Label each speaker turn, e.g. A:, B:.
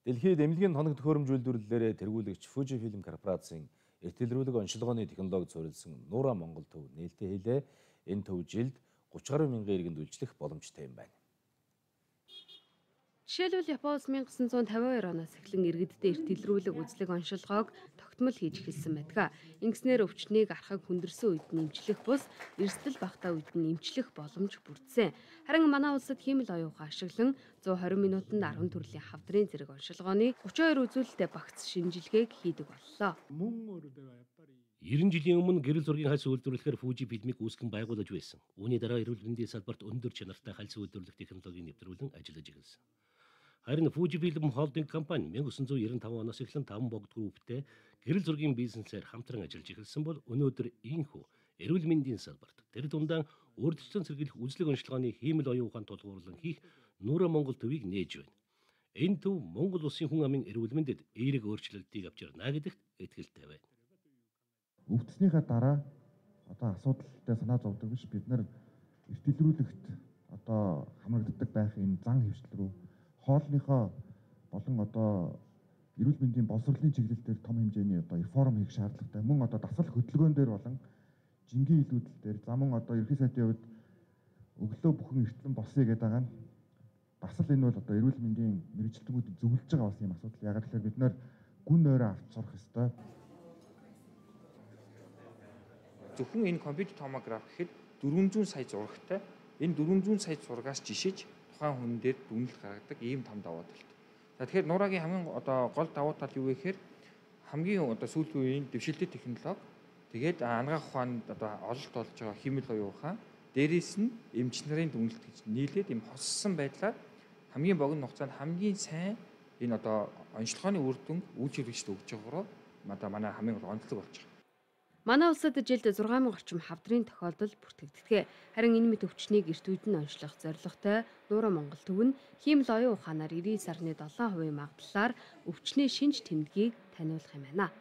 A: Дэлхийд эмнэлгийн тоног төхөөрөмж үйлдвэрлэлээр тэргүүлэгч Fujifilm корпорацийн эртэлрүүлэг онцлогооны технологид суурилсан Nura Монгол төв нээлттэй хэлээ. Энэ төв жилд 30 гаруй мянган иргэнд үйлчлэх боломжтой юм байна.
B: Жишээлбэл Японоос 1952 оноос эхлэн иргэддээ эртэлрүүлэг үзлэг оншилгоог тогтмол хийж эхэлсэн байдаг. Ингэснээр өвчнийг архаг хүндэрсэн үед нь эмчлэх бус, эрсдэл багтаа үед нь эмчлэх боломж бүрдсэн. Харин манай улсад хиймэл оюухан ашиглан 120 минутанд 10 төрлийн хавдрын зэрэг оншилгооны 32 үзүүлэлтэд багц шинжилгээг хийдэг боллоо.
C: 90 жилийн өмнө гэрэл зургийн хальс үйлдвэрлэхээр Fujifilm-ийг үүсгэн байгуулж байсан. Үүний дараа эрүүл мэндийн салбарт өндөр чанартай хальс үйлдвэрлэх технологиг нэвтрүүлэн ажиллаж эхэлсэн. Харин Fujifilm холдинг компани 1995 оноос эхлэн 5 богд групптэй гэрэл зургийн бизнесээр хамтран ажиллаж эхэлсэн бол өнөөдөр ийхүү эрүүл мэндийн салбарт тэр дундаа урьдчилан сэргийлэх үзлэг онцлогооны хиймэл оюун ухаан тулгуурлан хийх Nura Монгол төвийг нээж байна. Энэ төв Монгол улсын хүн амын эрүүл мэндэд эерэг өөрчлөлтийг авч ирнэ гэдэгт итгэлтэй байна.
D: Өвдснийхаа дараа одоо асуудалтай санаа зовдөг биш, бид нар эртэлрүүлэгт одоо хамрагддаг байх энэ зан хөвшил рүү хоолныхоо болон одоо эрүүл мэндийн боловсролын чиглэл дээр том хэмжээний одоо реформ хийх шаардлагатай. Мөн одоо дасгал хөдөлгөөн дээр болон жингийн илүүдэл дээр за мөн одоо ерхий сайдын хувьд өглөө бүхэн эртлэн босъё гэдэг байгаа нь бас л энэ бол одоо эрүүл мэндийн мэрэгчлэтгүүд зөвлөж байгаа бас юм асуудал. Яг тэгэхээр бид нэр гүн нойроо авч сурах ёстой.
E: Зөвхөн энэ компьютер томограф гэхэд 400 сая зурагтай. Энэ 400 сая зурагаас жишээж тухайн хүн дээр дүгнэлт гаргадаг ийм том давуу талт. За тэгэхээр Nura-гийн хамгийн одоо гол давуу тал юу вэ гэхээр хамгийн одоо сүүлийн үеийн дэвшилтэт технологи, тэгээд анагаах ухаанд одоо ололт болж байгаа хиймэл оюун ухаан, дээрээс нь эмч нарын дүгнэлт гэж нийлээд ийм хоссон байдлаар хамгийн богино хугацаанд хамгийн сайн энэ одоо онцлогооны үр дүн үйлчилэгчд өгж байгаагаар одоо манай хамгийн онцлог болж байгаа.
B: Манай улсад жилд 6000 орчим хавдрын тохиолдол бүртгэгддэг. Харин энэ мэт өвчнийг эрт үед нь онцлох зорилготой Nura Монгол төв нь хиймэл оюун ухаанаар 99.7% магадлалаар өвчний шинж тэмдгийг таниулах юм байна.